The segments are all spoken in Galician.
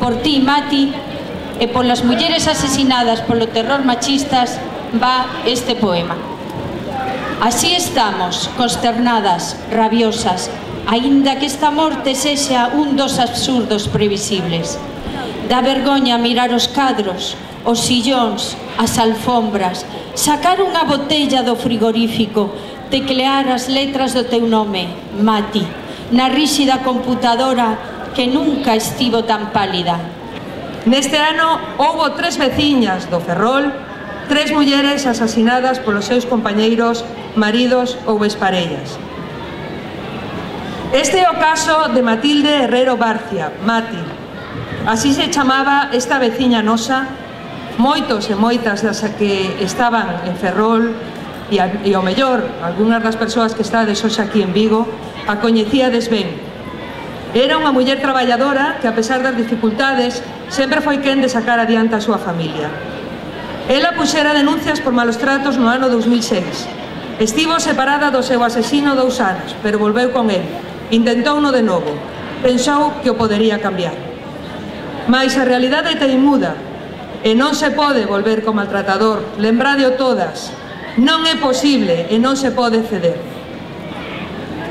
Por ti, Mati, e polas mulleres asesinadas polo terror machistas va este poema. Así estamos, consternadas, rabiosas, aínda que esta morte sexa un dos absurdos previsibles. Dá vergoña mirar os cadros, os sillóns, as alfombras, sacar unha botella do frigorífico, teclear as letras do teu nome, Mati, na ríxida computadora que nunca estivo tan pálida. Neste ano houbo 3 veciñas do Ferrol, 3 mulleres asasinadas polos seus compañeiros, maridos ou exparellas. Este é o caso de Matilde Herrero Barcia, Mati. Así se chamaba esta veciña nosa. Moitos e moitas das que estaban en Ferrol e ao mellor, algunhas das persoas que estades hoxe aquí en Vigo, a coñecíades ben. Era unha muller traballadora que, a pesar das dificultades, sempre foi quen de sacar adiante a súa familia. Ela puxera denuncias por malos tratos no ano 2006. Estivo separada do seu asesino 2 anos, pero volveu con el. Intentouno de novo. Pensou que o podería cambiar. Mais a realidade é teimuda e non se pode volver co maltratador. Lembradeo todas. Non é posible e non se pode ceder.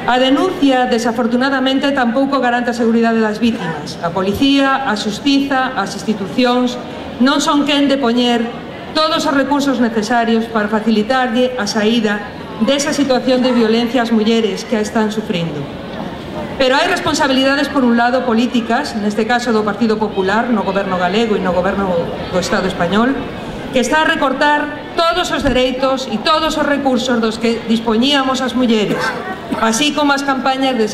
A denuncia, desafortunadamente, tampouco garante a seguridade das vítimas. A policía, a xustiza, as institucións non son quen de poñer todos os recursos necesarios para facilitarlle a saída desa situación de violencia ás mulleres que a están sufrindo. Pero hai responsabilidades, por un lado, políticas, neste caso do Partido Popular, no goberno galego e no goberno do Estado español, que está a recortar todos os dereitos e todos os recursos dos que dispoñíamos as mulleres, así como as campañas de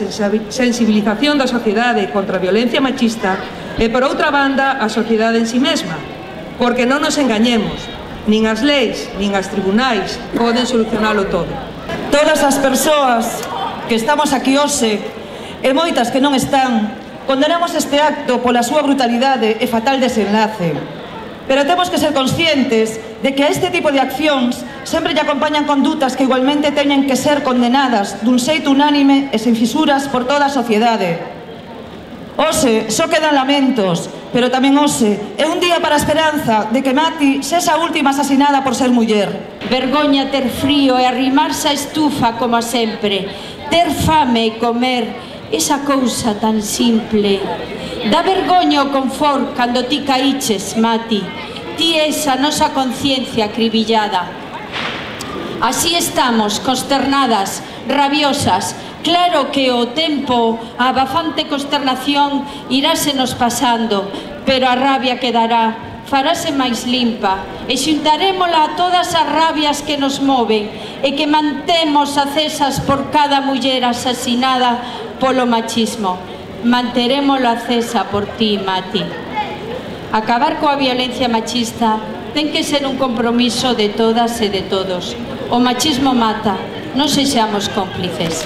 sensibilización da sociedade contra a violencia machista e, por outra banda, a sociedade en si mesma, porque non nos engañemos, nin as leis, nin as tribunais poden solucionalo todo. Todas as persoas que estamos aquí hoxe, e moitas que non están, condenamos este acto pola súa brutalidade e fatal desenlace. Pero temos que ser conscientes de que a este tipo de accións sempre lle acompañan condutas que igualmente teñen que ser condenadas dun xeito unánime e sen fisuras por toda a sociedade. Hoxe só quedan lamentos, pero tamén hoxe é un día para a esperanza de que Mati sexa a última asesinada por ser muller. Vergoña ter frío e arrimarse a estufa como sempre, ter fame e comer, esa cousa tan simple. Dá vergoña o confort cando ti caíches, Mati, ti esa nosa conciencia acribillada. Así estamos, consternadas, rabiosas. Claro que o tempo, a abafante consternación irásenos pasando, pero a rabia quedará, farase máis limpa e xuntarémola a todas as rabias que nos moven e que mantemos acesas por cada muller asesinada polo machismo. Manterémolo acesa por ti, Mati. Acabar coa violencia machista ten que ser un compromiso de todas e de todos. O machismo mata, non sexamos cómplices.